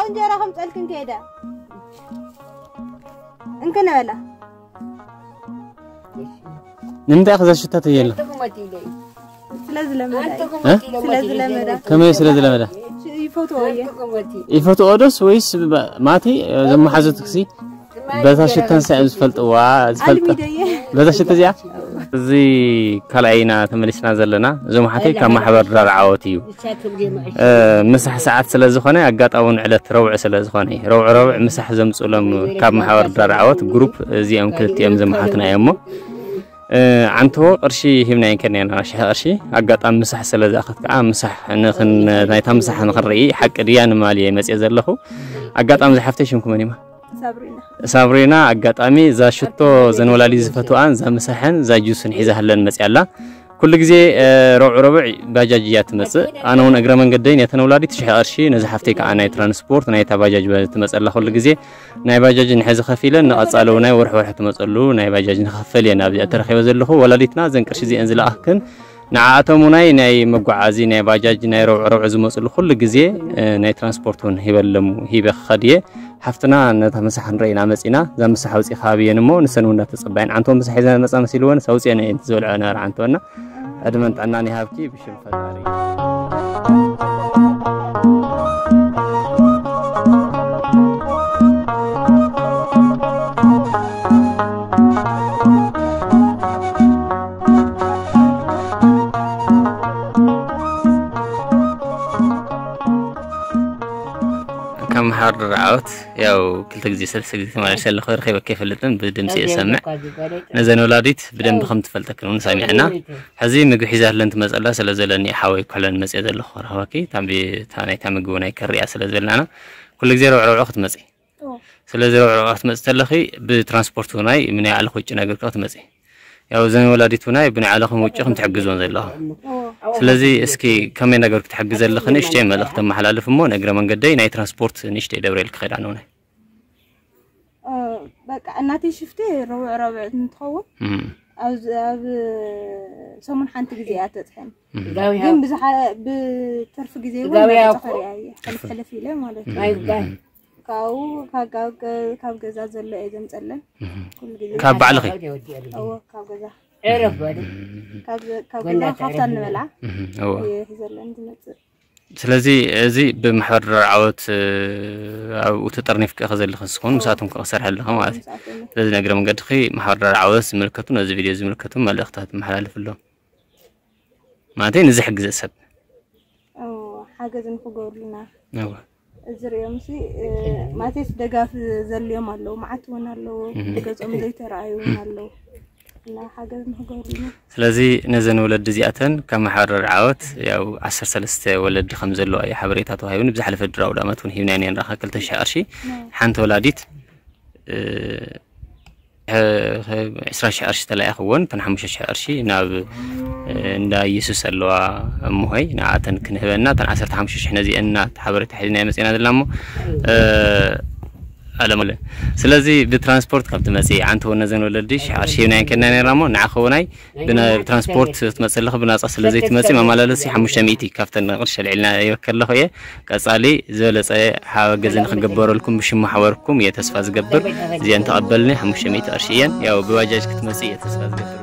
እንጀራ ከምፀልክን ከይደ እንክነበላ ንምንታይ ከዘሽተት የለ ስለዝለመዳ ስለዝለመዳ ከመይ ስለ ዝለመዳ ይፈትዎ እየ ይፈትዎ ዶስ ወይስ ማቲ ዘመሓዙት ክሲ በታ ሽተን ሳይም ዝፈልጥዋ ዝፈልጠ ኣልሚደየ በታ ሽተ እዚኣ እዚ ካልኣይና ተመሊስና ዘለና እዞም ሓተይ ካብ ማሕበር ድራር ዓወት እዩ ምሳሕ ሰዓት ስለ ዝኾነ ኣጋጣሚ ዕለት ረውዕ ስለ ዝኾነ ረውዕ ረውዕ ምሳሕ ዘምፅሎም ካብ ማሕበር ድራር ዓወት ግሩፕ እዚኦም ክልቲኦም ዘመሓትና እዮም እሞ ዓንቶ ቅርሺ ሂብና ይንከን ኢና ሽሕ ቅርሺ ኣጋጣሚ ምሳሕ ስለ ዝኣኸት ከዓ ምሳሕ ንኽን ናይታ ምሳሕ ንኽንርኢ ሓቂ ድያ ንማል እየ መፅየ ዘለኹ ኣጋጣሚ ዝሓፍተይ ሽምኩ መን ይማ ሳብሪና ኣጋጣሚ እዛ ሽቶ ዘን ወላዲ ዝፈትዋን እዛ ምሳሕን እዛ ጁስን ሒዛ ህለን መፅያ ኣላ ኩሉ ግዜ ረብዑ ረብዕ ባጃጅ እያ ትመፅእ ኣነ እውን እግረ መንገደይ ነተን ወላዲት ሽሕ ቅርሺ ነዚ ሓፍተይ ከዓ ናይ ትራንስፖርት ናይታ ባጃጅ ትመፀላ ኩሉ ግዜ ናይ ባጃጅ ንሕዚ ከፊለ ንቐፃሊ ናይ ወርሒ ወርሒ ትመፀሉ ናይ ባጃጅ ንኸፈል እየ ናብዚኣ ተረኪበ ዘለኹ ወላዲትና ዘን ቅርሺ እዚአን ዝለኣኽክን ንዓኣቶም ውናይ ናይ መጓዓዚ ናይ ባጃጅ ናይ ረብዑ ረብዑ ዝመፅሉ ኩሉ ግዜ ናይ ትራንስፖርት እውን ሂበሎም ሂበ ክኸድ እየ ሓፍትና ነታ ምሳሕ ክንረኢና መፂና እዛ ምሳሕ ውፅኢ ከባቢ እየን እሞ ንሰን እውን እናተፀባየን ዓንቶ ምሳሕ ሒዘን መፃ መሲልወን ሰውፅአን እየን ዝበልዐ ነበረ ዓንቶና ዕድመን ጥዕናን ይሃብኪ ብሽም ፈጣሪ ካብ መሓር ድርዓወት ያው ክልተ ግዜ ሰለስተ ግዜ ተመላልሰ ኣለኹ ረኺበ ከይፈልጥን ብድምፂ እሰምዕ ነዘን ወላዲት ብደንብ ከም ትፈልጠክን እውን ሰሚዕና ሕዚ ምግቢ ሒዛለን ትመፀላ ስለ ዘለኒ ሓወይ ኩሕለን መፅየ ዘለኹ ረኽበኪ ታምቢ ናይታ ምግቢ ናይ ከሪያ ስለ ዝበልናና ኩሉ ግዜ ረብዕ ረብዕ ክትመፂ ስለዚ ረብዕ ረብዕ ክትመፂ ተለኺ ብትራንስፖርት ውናይ ምናይ ዓለኹ ውጭ ነገር ክትመፂ ያው ዘን ወላዲት ውናይ ብናይ ዓለኹም ውጭ ከም ትሕግዞን ዘለኹ ስለዚ እስኪ ከመይ ነገር ክትሕግዘ ኣለኺ ንእሽተይ መልእኽቲ ተመሓላልፍ እሞ ንእግረ መንገደይ ናይ ትራንስፖርት ንእሽተይ ደብረኤል ክኸዳ ንውናይ በቃ እናተይ ሽፍቲ ረብዕ ረብዕ እንትኸውን ኣብ ሰሙን ሓንቲ ግዜ እያ ተፅሐን ግን ብዝሓ ብትርፊ ግዜ እውን መረፃ ከሪኣ እየ ሕልፍ ሕልፍ ኢለ ማለት እዩ ካብኡ ካብ ገዛ ዘሎ እየ ዘምፀለን ኩሉ ግዜ ካብ ባዕልኺ እዎ ካብ ገዛ ዕረፍ በሉ ካብ ገዛ ካብታ እንበልዓ እየ ሒዘለን ዝመፅእ ስለዚ እዚ ብማሕበር ድራር ዓወት ኣብኡ ተጠርኒፍኪ ኢኺ ዘለኺ ንስኹን ምስኣቶም ከ ክሰርሐ ኣለኺ ማለት እዩ ስለዚ ንእግረ መንገድኺ ማሕበር ድራር ዓወት ዝምልከቱ ነዚ ቪድዮ ዝምልከቱ መልእኽታት መሓላልፍሎም ማለት እዩ ንዝሕግዘ ሰብ ሓገዝ ንክገብሩልና እዝሪኦም ሲ ማለተይስ ደጋፍ ዘልዮም ኣለዉ መዓት እውን ኣለዉ ብገጾም ዘይተረኣዩ እውን ኣለዉ እና ሓገዝ ንክገብሩልና ስለዚ ነዘን ወለዲ እዚኣተን ካብ ማሕበር ዓወት ያው ዓሰርተ ሰለስተ ወለዲ ከም ዘለዋ እዩ ሓበሬታ ተዋሂቡኒ ብዝሓለፈ ድራው ዳመት እውን ሂብና ነርና ክልተ ሽሕ ቅርሺ ሓንቲ ወላዲት ዕስራ ሽሕ ቅርሺ ተላኢኽወን እተን ሓሙሽተ ሽሕ ቅርሺ ናብ እንዳ ኢየሱስ ኣለዋ እምሆይ ንኣተን ክንህበና እተን ዓሰርተ ሓሙሽተ ሽሕ ነዚአን እና ሓበሬታ ሒዝና መፂና ዘለና እሞ ኣለመለ ስለዚ ብትራንስፖርት ካብ ትመፂ ዓንቲ ወነ ዘን ወለዲ ሽሕ ቅርሺ ሂብና ከና ነርና እሞ ንዓኸ ውናይ ብትራንስፖርት ትመፅእ ኣለኻ ብናፃ ስለ ዘይትመፅእ መመላለሲ ሓሙሽተ ሚእቲ ካብተን ቅርሺ ኣልዒልና ይበከ ኣለኹ እየ ቀፃሊ ዝበለፀ ሓገዝ ንክግበረልኩም ብሽም ማሕበርኩም እየ ተስፋ ዝገብር እዚአን ተቐበልኒ ሓሙሽተ ሚእቲ ቅርሺ እየን ያው ብባጃጅ ክትመፅእ እየ ተስፋ ዝገብር